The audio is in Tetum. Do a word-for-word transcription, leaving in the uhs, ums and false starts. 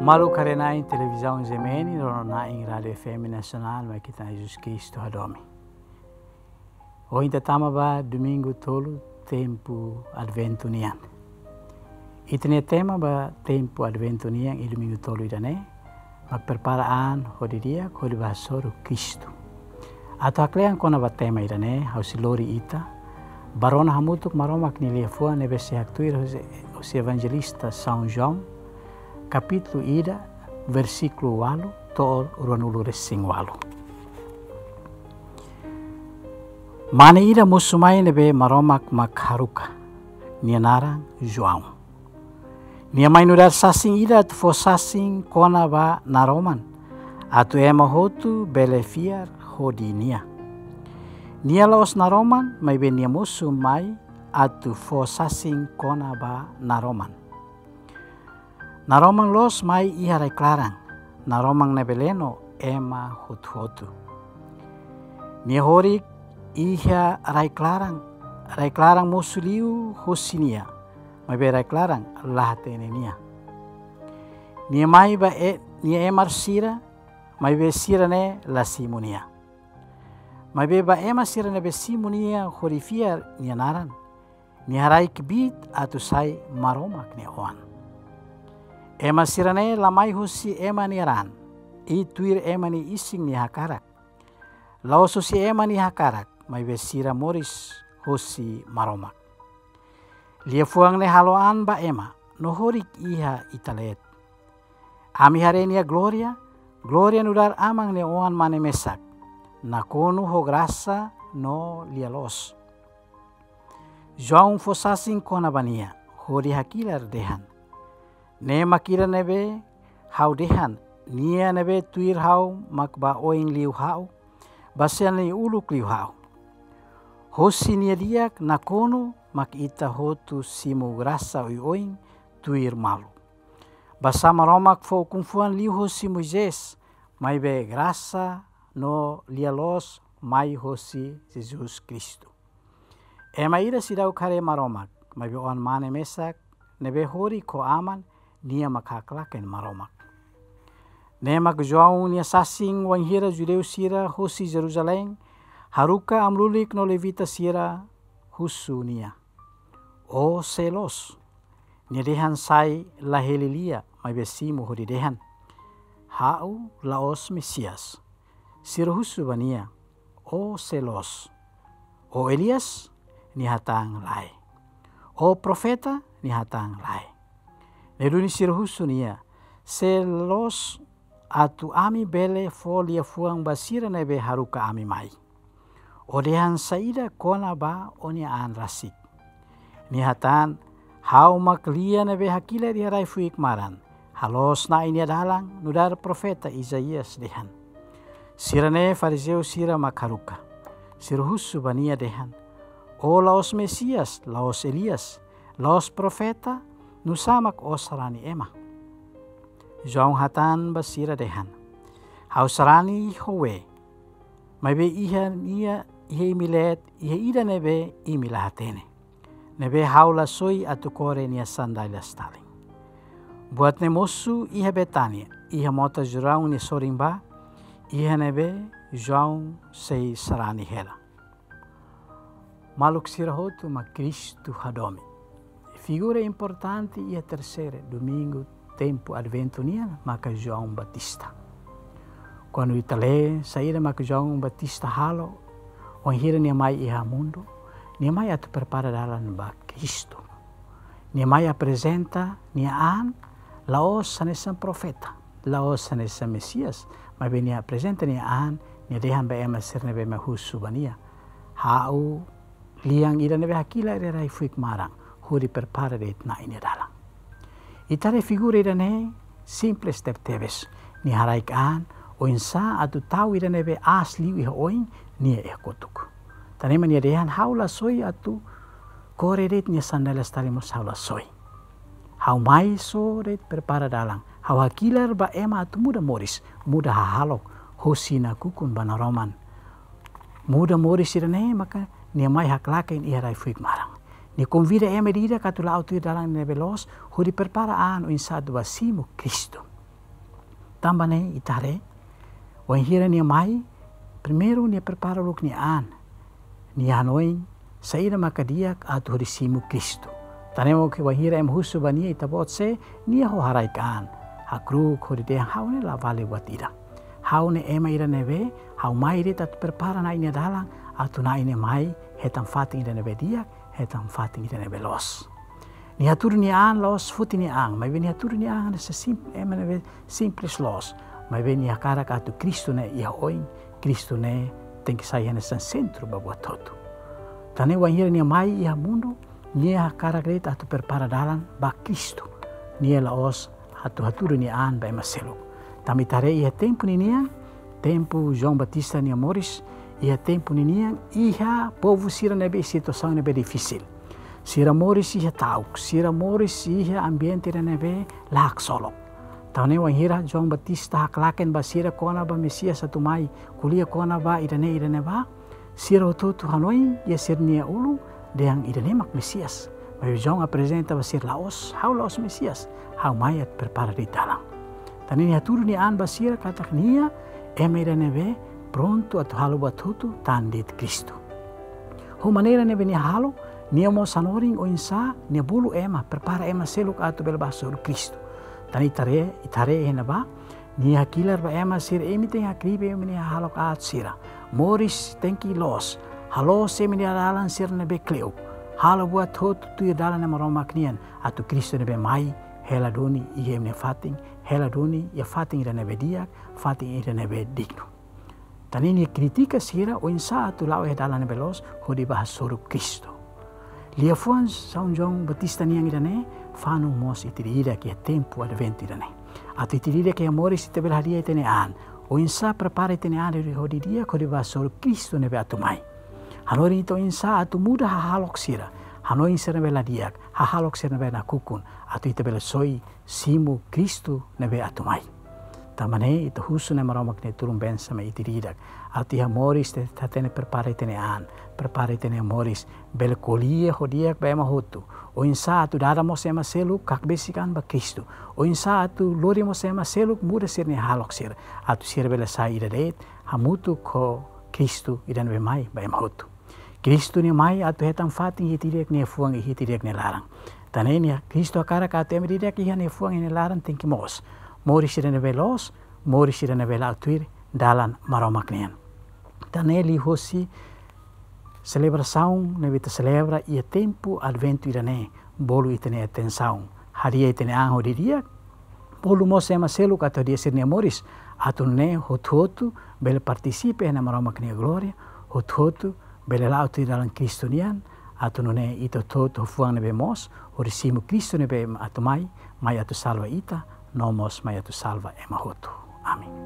Maluk haree-na'in televizaun G M N, rona-na'in Rádiu F M Nasionál, mai ita-nia Jesus Kristu hadomi. Ohin ita tama ba Domingu Tolu tempu Adventu nian. Ita-nia tema ba tempu Adventu nian iha Domingu Tolu ida-ne'e, mak prepara an hodi di'ak hodi bá hasoru Kristu. Atu haklean kona-ba tema ida-ne'e, ha'u sei lori ita bá rona hamutuk Maromak nia liafuan ne'ebé sei haktuir hosi, hosi Evanjelista São João, kapítulu ida, versíkulu ualu to'o ruanulu-resin-ualu. Mane ida mosu mai ne'ebé Maromak mak haruka, nia naran João. Nia mai nu'udar sasin ida atu fó sasin kona-ba naroman, atu ema hotu bele fiar hodi nia. Nia la'ós naroman, maibé nia mosu mai atu fó sasin kona-ba naroman. Naroman loos mai iha rai-klaran, naroman ne'ebé leno ema hotu-hotu. Nia horik iha rai-klaran, rai-klaran mosu liu hosi nia, maibé rai-klaran la hatene nia. Nia mai ba e-, nia emar sira, maibé sira-ne'e la simu nia. Maibé ba ema sira ne'ebé simu nia hodi fiar nia naran, nia haraik kbiit atu sai Maromak nia oan. Ema sira-ne'e la mai hosi ema nia raan, i tuir ema nia isin nia hakarak. La'ós hosi ema nia hakarak, maibé sira moris hosi Maromak. Liafuan ne'e halo an ba ema, no horik iha ita leet. Ami haree nia glória, glória nu'udar Aman nia Oan-Mane mesak, nakonu ho grasa no lia-loos. João fó sasin kona-ba nia, hodi hakilar dehan: Ne'e mak ida ne'ebé ha'u dehan, nia ne'ebé tuir ha'u mak bá oin liu ha'u, bá sel nia uluk liu ha'u. Hosi nia di'ak nakonu mak ita hotu simu grasa oioin tuir malu. Basá Maromak fó ukun-fuan liu hosi Moisés, maibé grasa no lia-loos mai hosi Jesus Kristu. Ema ida seidauk haree Maromak, maibé Oan-Mane mesak ne'ebé horik ho Aman, nia mak haklaken Maromak. Ne'e mak João nia sasin wainhira judeu sira hosi Jerusalém haruka amu-lulik no levita sira husu nia: Ó sé loos? Nia dehan sai la hili lia, maibé simu hodi dehan: Ha'u la'ós Mesias. Sira husu ba nia: Ó sé loos? Ó Elias? Nia hatán lae. Ó profeta? Nia hatán lae. Ne'e duni sira husu nia: Sé loos atu ami bele fó liafuan ba sira ne'ebé haruka ami mai? Ó dehan saida kona-ba ó-nia an rasik? Nia hatán: Ha'u mak lia ne'ebé hakilar iha rai-fuik maran, haloos Na'i nia dalan, nu'udar profeta Isaías dehan. Sira-ne'e Farizeu sira mak haruka. Sira husu ba nia dehan: Ó la'ós Mesias, la'ós Elias, la'ós profeta, nusá mak ó sarani ema? João hatán ba sira dehan: Ha'u sarani ho wee, maibé iha nia, iha imi leet, iha ida ne'ebé imi la hatene, ne'ebé ha'u la soi atu kore nia sandália talin. Buat ne'e mosu iha Betánia, iha mota Jordão nia sorin bá, iha ne'ebé João sei sarani hela. Maluk sira hotu mak Kristu hadomi. Figura importante iha terseira domingu tempu Adventu nian maka João Batista. Kuandu ita lee saida mak João Batista halo, wainhira nia mai iha mundu, nia mai atu prepara dalan ba Kristu. Nia mai aprezenta nia an, la'ós hanesan profeta, la'ós hanesan Mesias, maibé nia aprezenta nia an, nia dehan ba ema sira ne'ebé mai husu ba nia: Ha'u lian ida ne'ebé hakilar iha rai-fuik maran, hodi prepara de'it Na'i nia dalan. Ita haree figura ida-ne'e simples tebetebes. Nia haraik an oinsá atu tau ida ne'ebé aas liu iha oin, nia iha kotuk. Tanba nia dehan: Ha'u la soi atu kore de'it nia sandália talin mós ha'u la soi. Ha'u mai só de'it prepara dalan. Ha'u hakilar ba ema atu muda moris, muda hahalok, hosi nakukun ba naroman. Muda moris sira-ne'e maka nia mai haklaken iha rai-fuik maran. Nia konvida ema ida-idak atu la'o tuir dalan ne'ebé loos, hodi prepara an oinsá atu bá simu Kristu. Tanba ne'e ita haree, wainhira nia mai, primeiru nia prepara uluk nia an, nia hanoin saida maka di'ak atu hodi simu Kristu. Tan ne'e mós wainhira ema husu ba nia, ita-boot sé, nia ho haraik an, hakru'uk hodi dehan: Ha'u ne'e la vale buat ida. Ha'u ne'e ema ida ne'ebé, ha'u mai de'it atu prepara Na'i nia dalan, atu Na'i ne'e mai hetan fatin ida ne'ebé di'ak, hetan fatin ida ne'ebé loos. Nia hatudu nia an la'ós foti nia an, maibé nia hatudu nia an hanesan sim-, ema ne'ebé simples loos, maibé nia hakarak atu Kristu ne'e iha oin, Kristu ne'e tenke sai hanesan sentru ba buat hotu. Tan ne'e wainhira nia mai iha mundu, nia hakarak de'it atu prepara dalan ba Kristu. Nia la'ós atu hatudu nia an ba ema seluk. Tanba ita haree iha tempu ninian, tempu João Batista nia moris, iha tempu ninian, iha povu sira ne'ebé situasaun ne'ebé difisil. Sira moris iha ta'uk, sira moris iha ambiente ida ne'ebé la haksolok. Tan ne'e wainhira João Batista haklaken ba sira kona-ba Mesias atu mai, ko'alia kona-ba ida-ne'e ida-ne'ebá, sira hotu-hotu hanoin iha sira-nia ulun dehan ida-ne'e mak Mesias. Maibé João aprezenta ba sira: La'ós, ha'u la'ós Mesias, ha'u mai atu prepara de'it dalan. Tan ne'e nia hatudu nia an ba sira katak nia ema ida ne'ebé prontu atu halo buat hotu tan de'it Kristu. Ho maneira ne'ebé nia halo, nia mós hanorin oinsá nia bolu ema, prepara ema seluk atu bele bá hasoru Kristu. Tan ne'e ita haree, ita haree iha ne'ebá, nia hakilar ba ema sira: Imi tenke hakribi imi-nia hahalok aat sira. Moris tenke loos. Halo sira-nia dalan sira ne'ebé kle'uk. Halo buat hotu tuir dalan ne'e Maromak nian, atu Kristu ne'ebé mai hela duni iha imi-nia fatin, hela duni iha fatin ida ne'ebé di'ak, fatin ida ne'ebé dignu. Tan ne'e nia kritika sira oinsá atu la'o iha dalan ne'ebé loos hodi bá hasoru Kristu. Liafuan São João Batista nian ida-ne'e fanu mós ita ida-idak iha tempu Adventu ida-ne'e. Atu ita ida-idak iha moris ita bele hadi'a ita-nia an. Oinsá prepara ita-nia an hodi, hodi di'ak hodi bá hasoru Kristu ne'ebé atu mai. Hanorin ita oinsá atu muda hahalok sira. Hanoin sira ne'ebé la di'ak, hahalok sira ne'ebé nakukun. Atu ita bele soi simu Kristu ne'ebé atu mai. Tanba ne'e ita husu Na'i Maromak nia tulun bensa mai ita ida-idak. Atu iha moris ita hatene prepara ita-nia an, prepara ita-nia moris, bele ko'alia ho di'ak ba ema hotu. Oinsá atu dada mós ema seluk hakbesik an ba Kristu. Oinsá atu lori mós ema seluk muda sira-nia hahalok sira. Atu sira bele sai ida de'it, hamutuk ho Kristu ida ne'ebé mai ba ema hotu. Kristu nia mai atu hetan fatin iha ita ida-idak nia fuan, iha ita ida-idak nia laran. Tan ne'e nia Kristu hakarak atu ema ida-idak iha nia fuan, iha nia laran tenke moos. Moris ida ne'ebé loos, moris ida ne'ebé la'o tuir dalan Maromak nian. Tan ne'e liuhosi selebrasaun ne'ebé ita selebra iha tempu Adventu ida-ne'e, bolu ita-nia atensaun. Hadi'a ita-nia an hodi di'ak, bolu mós ema seluk atu hadi'a sira-nia moris, atu nune'e hotu-hotu bele partisipa iha Na'i Maromak nia glória, hotu-hotu bele la'o tuir dalan Kristu nian, atu nune'e ita hotu-hotu ho fuan ne'ebé moos, hodi simu Kristu ne'ebé atu mai, mai atu salva ita, no mós mai atu salva ema hotu. Amen.